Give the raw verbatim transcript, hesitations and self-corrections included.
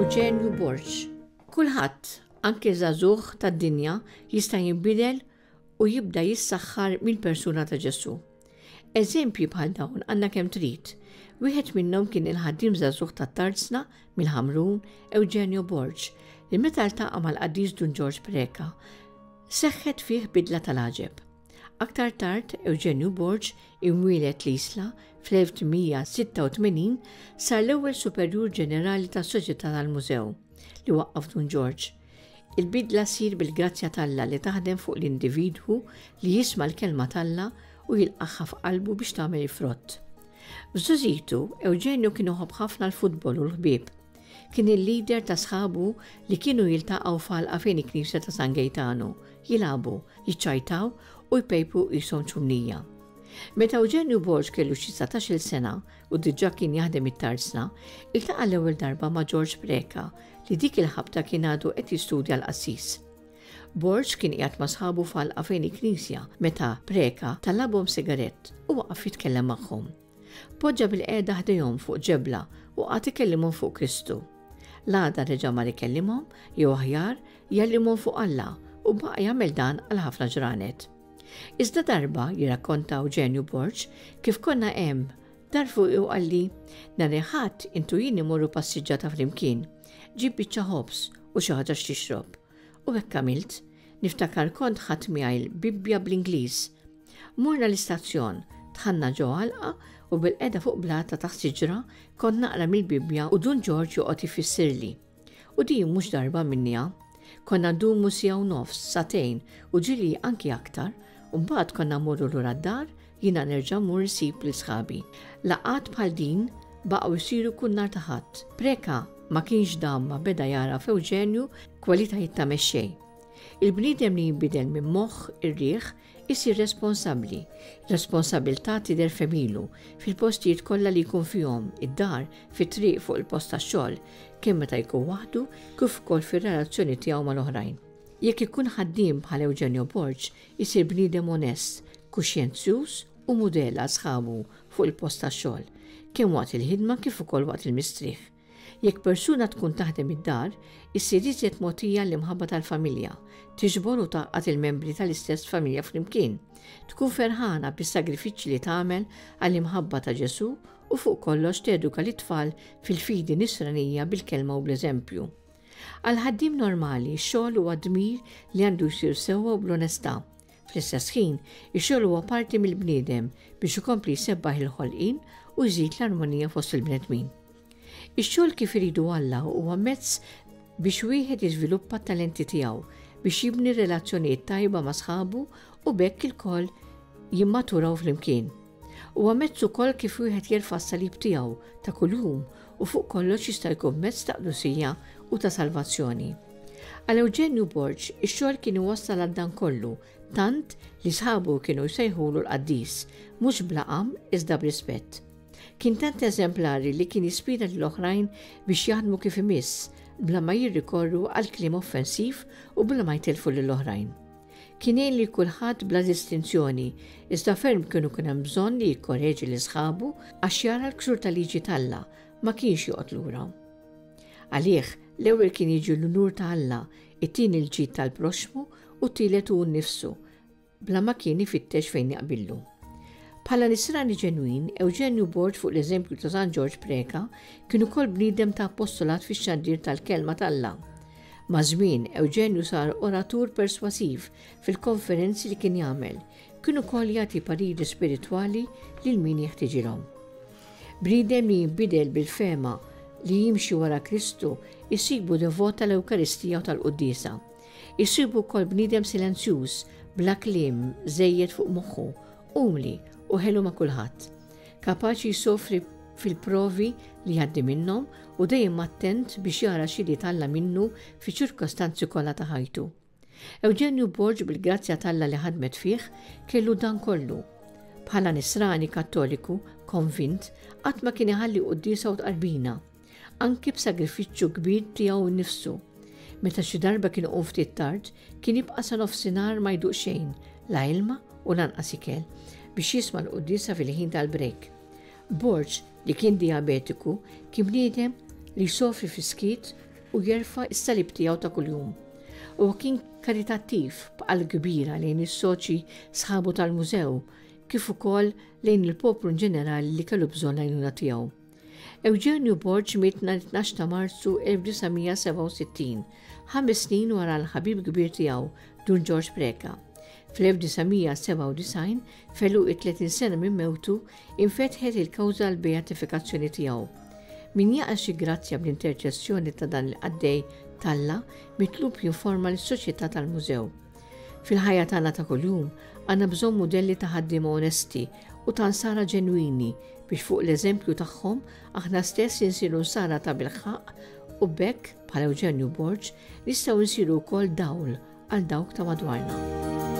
Eugenju Borg. Kulħadd, anke żagħżugħ tad-dinja, jista' jinbidel u jibda jissaħħar mill-persuna ta' Ġesù. Eżempji bħal dawn għandna kemm trid. Wieħed minnhom kien il-ħaddiem żagħżugħ tat-Tarzna mill-Ħamrun, Eugenio Borg, li meta ltaqa' mal-qaddis Dun Ġorġ Preka, seħħet fih bidla tal-għaġeb. Aktar tard, Eugenio Borg, imwieled l-Isla fl-elf tmien mija sitta u tmenin, sar l-ewwel superjur ġenerali tas-Soċjetà tal-Mużew li waqqaf Dun Ġorġ. Il-bidla ssir bil-grazzja t'Alla li taħdem fuq l-individwu li jisma' l-kelma t'Alla u jilqagħha f'qalbu biex tagħmel il-frott. F'żgħożitu, Eugenio kien iħobb ħafna l-futbol u l-ħbieb. Kien il-leader ta' sħabu li kienu jiltaqgħu f'għalqa fejn il-Knisja ta' San Gaetano, jilagħbu, jiċċajtaw u jpejpu qishom ċumnija. Meta Eugenio Borg kellu xi dsatax-il sena u diġà kien jaħdem it-tarzna, iltaqa' l-ewwel darba ma' George Preka li dik il-ħabta kien għadu qed jistudja l-qassis. Borg kien qiegħed ma' sħabu f'għalqa fejn il-knisja meta Preka talabhom sigarett u waqaf jitkellem magħhom. Poġġa bil-qiegħda ħdejhom fuq ġebla u qagħad ikellimhom fuq Kristu. L-għada reġa' mar ikellimhom, jew aħjar jgħallimhom fuq Alla, u baqa' jagħmel dan għal ħafna ġranet. Iżda darba, jirrakkonta Eugenio Borg, kif konna hemm, dar fuqi u qalli, nhar il-Ħadd intu jien imorru passiġġata flimkien, ġib biċċa ħobż u xi ħaġa x'tixrob. U hekk għamilt, niftakar kont ħadd miegħi l-Bibbja bl-Ingliż. Morna l-istazzjon, dħalna ġo għalqa u bil-qeda fuq blata taħt siġra kont naqra mill-Bibbja u Dun Ġorġ joqgħod ifissirli. U din mhux darba minnija. Konna ndumu siegħa u nofs, sagħtejn u ġieli anki aktar, u mbagħad konna mmorru lura d-dar, jiena nerġa' mmur nsib lil sħabi. Laqgħat bħal din baqgħu jsiru kull nhar ta' Ħadd. Preka ma kienx dam ma beda jara f'Eugenju kwalitajiet ta' mexxej. Il-bniedem li jinbidel minn moħħ ir-riħ isir responsabbli. Responsabilità tidher f'għemilu, fil-postijiet kollha li jkun fihom, id-dar, fit-triq, fuq il-post tax-xogħol, kemm meta jkun waħdu kif ukoll fir-relazzjoni tiegħu mal-oħrajn. Jekk ikun ħaddiem bħal Eugenio Borg, isir bniedem onest, kuxjenzjuż u mudell għal sħabu fuq il-post tax-xogħol, kemm waqt il-ħidma kif ukoll waqt il-mistrieħ. Jekk persuna tkun taħdem id-dar, issir iżjed mogħtija l-imħabba tal-familja, tiġbor u tgħaqqad il-membri tal-istess familja flimkien, tkun ferħana bis-sagrifiċċji li tagħmel għall-imħabba ta' Ġesù u fuq kollox teduka lit-tfal fil-fidi nisranija bil-kelma u bl-eżempju. Għal ħaddiem normali, x-xogħol huwa dmir li għandu jsir sewwa u bl-onestà. Fl-istess ħin, ix-xogħol huwa parti mill-bniedem biex ikompli jsebbaħ il-ħolqien u jżid l-armonija fost il-bnedmin. Ix-xogħol kif iridu Alla huwa mezz biex wieħed jiżviluppa t-talenti tiegħu, biex jibni relazzjonijiet tajba ma' sħabu u b'hekk ilkoll jimmaturaw flimkien. Huwa mezz ukoll kif wieħed jerfa' s-salib tiegħu ta' kuljum u fuq kollox jista' jkun mezz ta' qdusija u ta' salvazzjoni. Għal Eugenio Borg, ix-xogħol kien iwassal għal dan kollu, tant li sħabu kienu jsejħulu l-qaddis, mhux b'laqam iżda b'rispett. Kien tant eżemplari li kien jispira lill-oħrajn biex jaħdmu kif imiss, bla ma jirrikorru għal kliem offensiv u bla ma jtelfu lill-oħrajn. Kien jgħin li kulħadd bla distinzjoni, iżda ferm kienu kien hemm bżonn li jikkoreġi lil sħabu għax jara l-ksur tal-liġi t'Alla, ma kienx joqgħod lura. Għalih, l-ewwel kien jiġi l-unur ta' Alla, it-tieni l-ġid tal-proxxmu u t-tielet hu nnifsu, bla ma kien ifittex fejn jaqbillu. Bħala nisrani ġenwin, Eugenio Borg fuq l-eżempju ta' San Ġorġ Preka kien ukoll bniedem ta' apostolat fix-xandir tal-kelma t'Alla. Ma' żmien, Eugenio sar oratur perswasiv fil-konferenzi li kien jagħmel, kien ukoll jagħti pariri spiritwali lil min jeħtieġilhom. Bniedem li jinbidel bil-fema li jimxi wara Kristu jsibu devot tal-Ewkaristija u tal-Quddiesa. Jsibu wkoll bniedem silenzjuż, bla kliem żejjed fuq moħħu, umli u ħelu ma' kulħadd. Kapaċi jsofri fil-provi li jgħaddi minnhom u dejjem attent biex jara x'jrid Alla minnu fi ċirkostanzi kollha ta' ħajtu. Eugenio Borg bil-grazzja t'Alla li ħadmet fih kellu dan kollu. Bħala nisrani kattoliku konvint qatt ma kien iħalli quddiesa u tqarbina, anki b'sagrifiċċju kbir tiegħu nnifsu. Meta xi darba kien iqum ftit tard, kien jibqa' sa nofsinhar ma jduq xejn, la ilma u lanqas ikel, biex jisma' l-quddiesa fil-ħin tal-brejk. Borg, li kien diabetiku, kien bniedem li jsofri fi skiet u jerfa' s-salib tiegħu ta' kuljum. Huwa kien karitattiv b'qalb kbira lejn is-soċi sħabu tal-mużew kif ukoll lejn il-poplu ġenerali li kellu bżonn l-għajnuna tiegħu. Eugenio Borg miet nhar tnax ta' Marzu elf disa' mija sebgħa u sittin, ħames snin wara l-ħabib kbir tiegħu, Dun George Preca. Fl-elf disa' mija sebgħa u disgħin, f'għeluq it-tletin sena minn mewtu, infetħet il-kawża l-beatifikazzjoni tiegħu. Min jaqa' xi grazzja bl-interċessjoni ta' dan il-qaddej t'Alla mitlub jinforma lis-Soċjetà tal-Mużew. Fil-ħajja tagħna ta' kuljum għandna bżonn mudelli ta' ħaddiema onesti u ta' nsara ġenwini biex fuq l-eżempju tagħhom aħna stess insiru nsara ta' bilħaqq u b'hekk bħal Eugenio Borg nistgħu nsiru wkoll dawl għal dawk ta' madwarna.